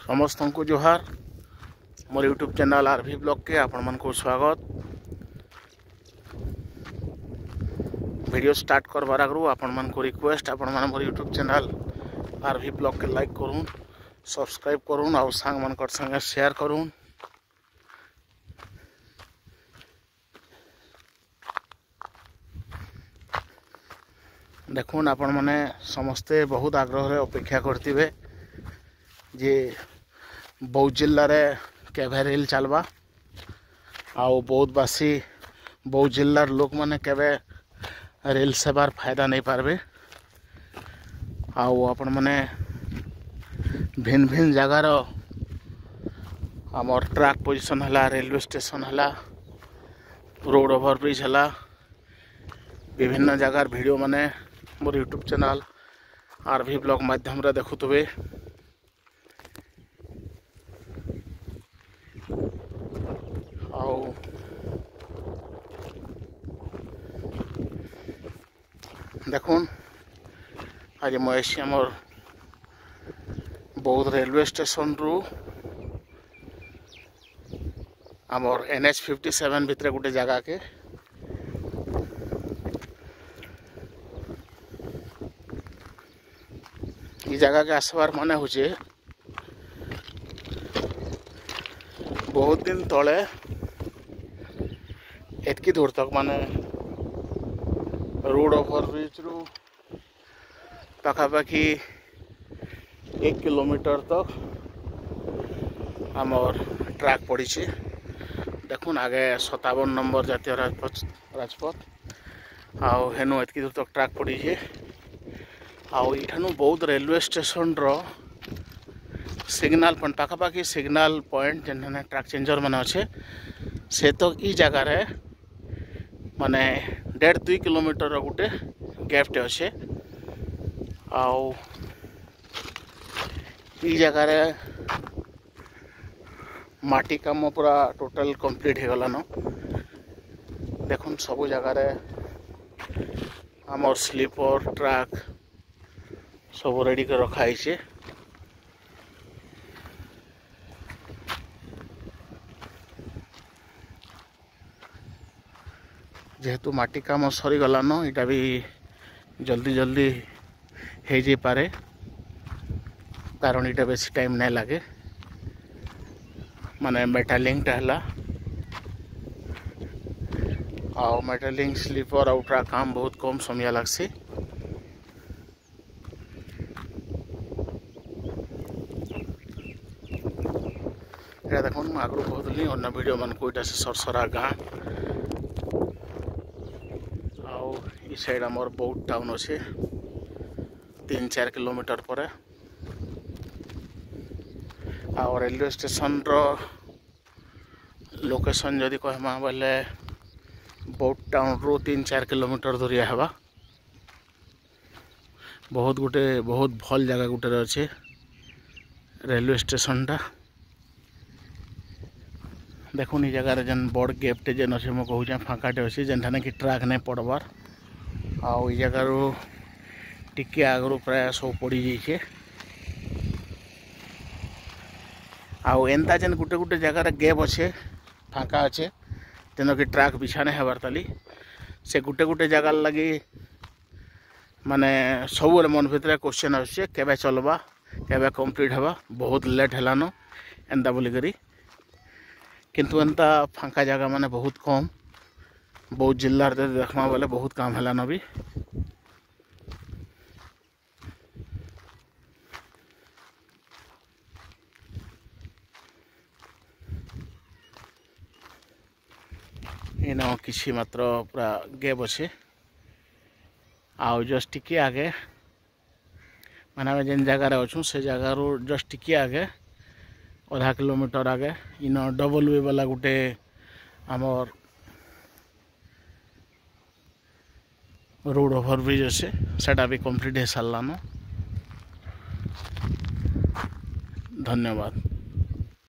ସମସ୍ତଙ୍କୁ ଜୁହାର। ମୋର यूट्यूब चैनल आरभि ब्लॉग के आपण मन को स्वागत। वीडियो स्टार्ट करबार आगु आपण मन को रिक्वेस्ट, आपण मन मोर यूट्यूब चैनल आरभि ब्लॉग के लाइक करून, सब्सक्राइब करून और सांग मन कर संगे शेयर करून। देखुन आपण माने समस्ते बहुत आग्रह रे अपेक्षा करथिबे जे बौद्ध जिला रे केभे रेल चलबा आउ बौद्धवासी बौद्ध जिलार लोक माने केवे रेल सेवार फायदा नहीं पारबे। आउ आपण माने भिन्न भिन्न जगार आमर ट्रैक पोजिशन हला, रेलवे स्टेशन हला, रोड ओभरब्रिज हला, विभिन्न जगार भिडियो माने मोर यूट्यूब चैनल आरभि ब्लॉग माध्यम रे देखुथिबे। आउ देखुन आज मुझे आमर बौद्ध रेलवे स्टेशन रु आमर NH 57 भितर गोटे जगह के ये जगह के आसबार माने होचे बहुत दिन तले एतकी दूर तक माने रोड ओभरब्रिज रु पाखापाखि 1 किलोमीटर तक आमर ट्रैक पड़ी। देखुन आगे 57 नंबर जातीय राजपथ आउ हेनु एतकी दूर तक ट्रैक पड़ी। आउ इठानु बहुत रेलवे स्टेशन रो सिग्नल पॉइंट पाखापाखि सिग्नल पॉइंट जेन ट्रैक चेंजर माने अच्छे से तो इ जगह रे माने 1.5-2 किलोमीटर गोटे गैपटे अच्छे। आउ इ जगह रे माटी काम पूरा टोटल कंप्लीट हो गलान। देखुन सब जगह रे आमर स्लीपर ट्रैक सब रेडी कर रखा है। जेहेतु माटी काम सरीगलान इटा भी जल्दी जल्दी हो जाए कारण इटा बेसी टाइम नहीं लगे माने मेटालिंगटा हला आउ मेटालिंग स्लीपर आउ ट्रैक काम बहुत कम समय लगसी। एटा देखुन मुझे आगु कहली अन्य भिडियो मानक इटा से सरसरा गाँ आउ इ साइड आमर बौद्ध टाउन अच्छे 3-4 किलोमीटर पर। आउ रेलवे स्टेशन रो लोकेशन जदि कहमा बोले बौद्ध टाउन रु 3-4 किलोमीटर दूरिया हेबा। बहुत गोटे बहुत भल जगह गोटे अच्छे रेलवे स्टेशन टा। देखुन इ जगह जेन बड़ गैपटे जेन अच्छे मुझे कहुचे फाँकाटे अच्छे जेनठाने कि ट्रैक नहीं पड़बार। आउ इ जगह टिके आगु प्राय सब पड़ी जाइए। आउ एंता जेन गोटे गोटे जगह गैप अच्छे फाँका अच्छे जेन कि ट्रैक बिछा नहीं हेबार ताली से गोटे गोटे जगह लगी माने सब मन भितर क्वेश्चन आसुचे केबे चलबा केबे कम्प्लीट हेबा बहुत लेट हेलानो एंता बोलिकरी। किंतु एंता फाँका जगह माने बहुत कम बहुत जिलार देखमा बोले बहुत काम हेलानो भी। इन किसी मात्र पूरा गैप अच्छे आउ जस्ट टिके आगे माने आम जेन जगह अच्छू से जगह जस्ट टिके आगे आधा किलोमीटर आगे इन डबल वे वाला गोटे आमर रोड ओभरब्रिज अच्छे सेटा भी कम्प्लीट हो सारान। धन्यवाद।